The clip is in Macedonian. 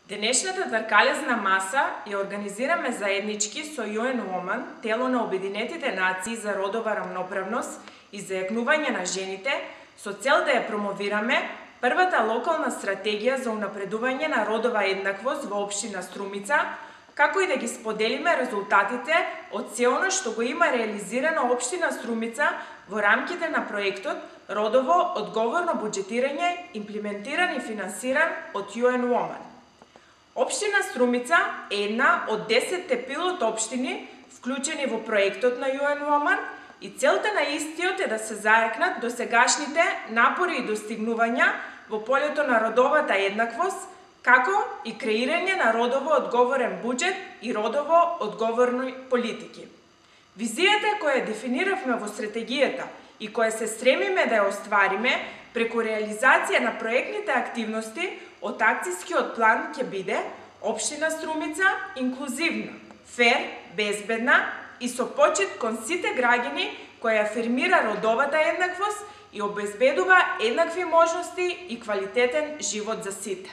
Денешната тркалезна маса ја организираме заеднички со UN Women, тело на Обединетите нации за родова рамноправност и зајакнување на жените, со цел да ја промовираме првата локална стратегија за унапредување на родова еднаквост во општина Струмица, како и да ги споделиме резултатите од се она што го има реализирано општина Струмица во рамките на проектот Родово одговорно буџетирање, имплементиран и финансиран од UN Women. Општина Струмица е една од 10 пилот општини вклучени во проектот на UN Women и целта на истиот е да се зајакнат досегашните напори и достигнувања во полето на родовата еднаквост, како и креирање на родово одговорен буџет и родово одговорни политики. Визијата која дефиниравме во стратегијата и која се стремиме да ја оствариме преку реализација на проектните активности од акцијскиот план ќе биде општина Струмица инклузивна, фер, безбедна и со почит кон сите граѓани која афирмира родовата еднаквост и обезбедува еднакви можности и квалитетен живот за сите.